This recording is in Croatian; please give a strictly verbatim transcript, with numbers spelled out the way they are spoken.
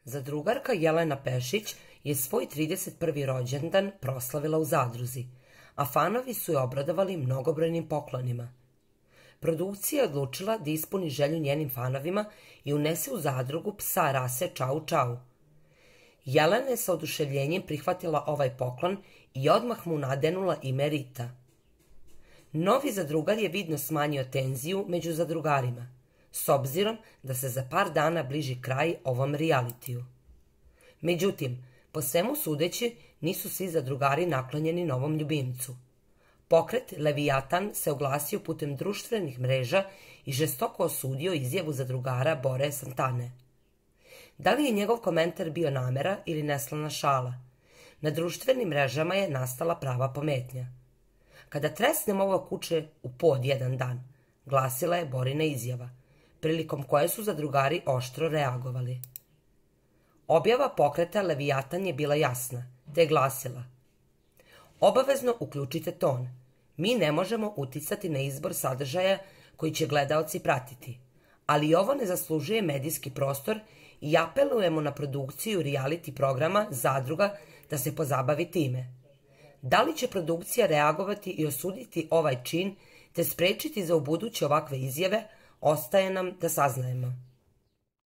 Zadrugarka Jelena Pešić je svoj trideset prvi rođendan proslavila u zadruzi, a fanovi su je obradovali mnogobrojnim poklonima. Produkcija je odlučila da ispuni želju njenim fanovima i unese u zadrugu psa rase Čau Čau. Jelena je sa oduševljenjem prihvatila ovaj poklon i odmah mu nadenula ime Rita. Novi zadrugar je vidno smanjio tenziju među zadrugarima, s obzirom da se za par dana bliži kraj ovom realitiju. Međutim, po svemu sudeći, nisu svi zadrugari naklonjeni novom ljubimcu. Pokret Levijatan se oglasio putem društvenih mreža i žestoko osudio izjavu zadrugara Bore Santane. Da li je njegov komentar bio namera ili neslana šala? Na društvenim mrežama je nastala prava pometnja. Kada tresnem ovo kuće u pod jedan dan, glasila je Borina izjava, prilikom koje su zadrugari oštro reagovali. Objava pokreta Levijatan je bila jasna, te je glasila: obavezno uključite ton. Mi ne možemo uticati na izbor sadržaja koji će gledaoci pratiti, ali ovo ne zaslužuje medijski prostor i apelujemo na produkciju reality programa Zadruga da se pozabavi time. Da li će produkcija reagovati i osuditi ovaj čin te sprečiti za ubuduće ovakve izjave, ostaje nam da saznajemo.